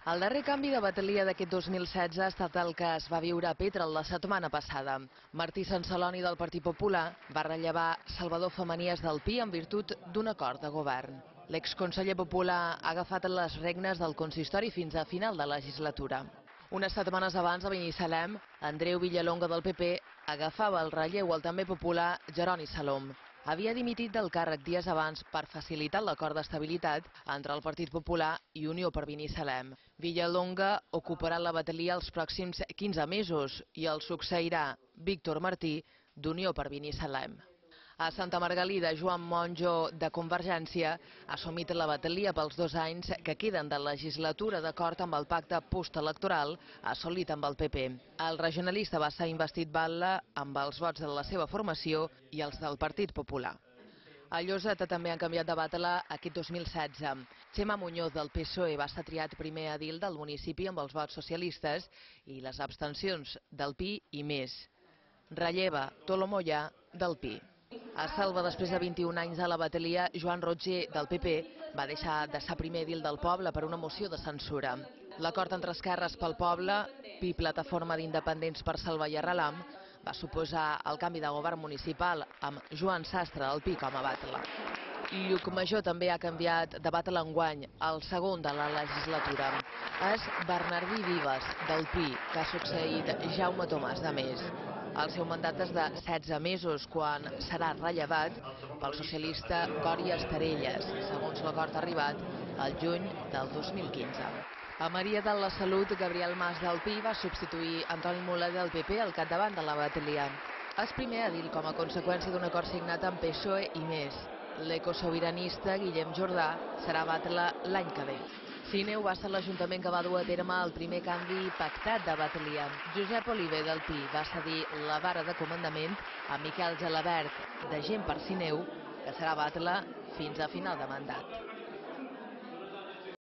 El darrer canvi de batalia d'aquest 2016 ha estat el que es va viure a Petrel la setmana passada. Martí Sanceloni del Partit Popular va rellevar Salvador Femenies del PI en virtut d'un acord de govern. L'exconseller popular ha agafat les regnes del consistori fins a final de legislatura. Unes setmanes abans a Binissalem, Andreu Villalonga del PP agafava el relleu al també popular Jeroni Salom. Havia dimitit del càrrec dies abans per facilitar l'acord d'estabilitat entre el Partit Popular i Unió per Binissalem. Villalonga ocuparà la batalia els pròxims 15 mesos i el succeirà Víctor Martí d'Unió per Binissalem. A Santa Margalida, Joan Monjo, de Convergència, ha assumit la batalia pels 2 anys que queden de legislatura d'acord amb el pacte postelectoral assolit amb el PP. El regionalista va ser investit batlle amb els vots de la seva formació i els del Partit Popular. A Lloseta també han canviat de batalla aquest 2016. Txema Muñoz del PSOE va ser triat primer edil del municipi amb els vots socialistes i les abstencions del PI i més. Relleva Tolo Mollà del PI. A Selva, després de 21 anys a la batalia, Joan Roger del PP va deixar de ser primer edil del poble per una moció de censura. L'acord entre Esquerres pel Poble, PI Plataforma d'Independents per Selva i Arrelam, va suposar el canvi de govern municipal amb Joan Sastre del PI com a batlle. Llucmajor també ha canviat de batlle enguany, el segon de la legislatura. És Bernardí Vives del PI, que ha succeït Jaume Tomàs de Més. El seu mandat és de 16 mesos, quan serà rellevat pel socialista Cori Estarelles, segons l'acord arribat al juny del 2015. A Maria de la Salut, Gabriel Mas del PI va substituir Antoni Muller del PP al capdavant de la batalia. És primer edil com a conseqüència d'un acord signat amb PSOE i més. L'ecosobiranista Guillem Jordà serà batlle l'any que ve. Sineu va ser l'Ajuntament que va dur a terme el primer canvi pactat de batalia. Josep Oliver del PI va cedir la vara de comandament a Miquel Gelabert, de Gent per Sineu, que serà batlle fins a final de mandat.